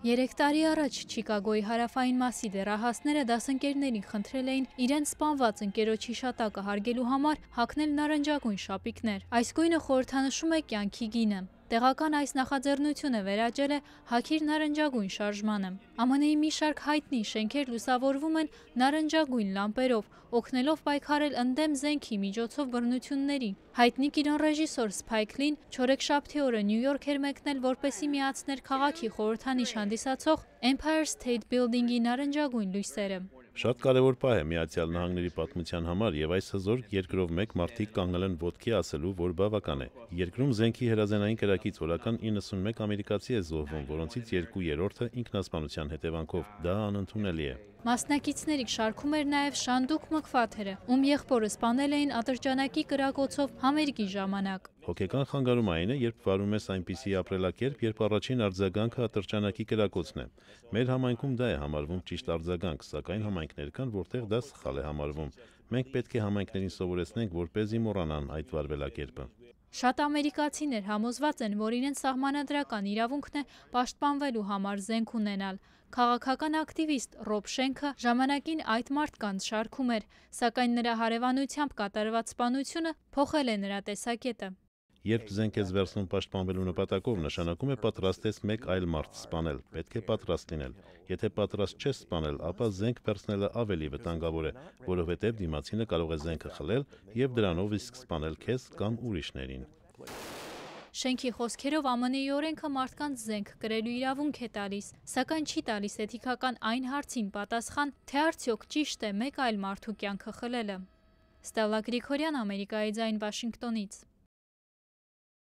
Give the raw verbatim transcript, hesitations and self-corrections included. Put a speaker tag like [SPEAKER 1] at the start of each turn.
[SPEAKER 1] Երեք տարի առաջ Չիկագոյի հարավային մասի դեռահասները դասընկերներին խնդրել էին իրենց սպանված ընկերոջ հիշատակը հարգելու համար հագնել նարնջագույն շապիկներ։ Այս գույնը խորհրդանշում է կյանքի գինը։ Տեղական այս նախաձեռնությունը վերաճել է «Հագիր նարնջագույն» շարժմանը։ Ամն Ի մի շարք հայտնի շենքեր լուսավորվում են նարնջագույն լամպերով, օգնելով պայքարել ընդդեմ զենքի միջոցով բռնությունների։ Հայտնի կինոռեժիսոր Սփայք Լին չորեքշաբթի օրը Նյու Յորք էր մեկնել, որպեսզի միացներ քաղաքի խորհրդանիշ հանդիսացող Empire State Building-ի նարնջագույն լույսերը։
[SPEAKER 2] Շատ կարևոր պահ է Միացյալ Նահանգների պատմության համար, եւ այս հզոր երկրով մեկ մարդիկ կանգնել են ոտքի ասելու, որ բավական է։ Երկրում զենքի հրազենային կրակից օրական իննսունմեկ ամերիկացի է զոհվում, որոնցից երկու երրորդը ինքնասպանության հետևանքով։ Դա անընդունելի է։
[SPEAKER 1] Մասնակիցների շարքում էր նաև Շանդուկ Մքվաթերը, ում եղբորը սպանել էին ատրճանակի կրակոցով համերգի ժամանակ։
[SPEAKER 2] Հոգեկան խանգարում այն է, երբ վարում ես այնպիսի ապրելակերպ, երբ առաջին արձագանքը ատրճանակի կրակոցն է։ Մեր համայնքում դա է համարվում ճիշտ արձագանք, սակայն համայնքներ կան, որտեղ դա սխալ է համարվում։ Մենք պետք է համայնքներին սովորեցնենք, որպեսզի մոռանան այդ վարվելակերպը։
[SPEAKER 1] Շատ ամերիկացիներ համոզված են, որ իրենց սահմանադրական իրավունքն է պաշտպանվելու համար զենք ունենալ։ Քաղաքական ակտիվիստ Ռոբ Շենքը ժամանակին այդ մարդկանց շարքում էր, սակայն նրա հարևանությամբ կատարված սպանությունը փոխել է նրա տեսակետը։
[SPEAKER 2] Երբ զենք ես վերցնում պաշտպանվելու նպատակով, նշանակում է պատրաստ ես մեկ այլ մարդ սպանել, պետք է պատրաստ լինել։ Եթե պատրաստ չես սպանել, ապա զենք վերցնելը ավելի վտանգավոր է, որովհետև դիմացինը կարող է զենքը խլել եւ դրանով իսկ սպանել քեզ կամ ուրիշներին։
[SPEAKER 1] Շենքի խոսքերով Ամն Ի օրենքը մարդկանց զենք կրելու իրավունք է տալիս, սակայն չի տալիս էթիկական այն հարցին պատասխան, թե արդյոք ճիշտ է մեկ այլ մարդու կյանքը խլելը։ Ստելլա Գրիգորյան, Ամերիկայի ձայն, Վաշինգտոնից։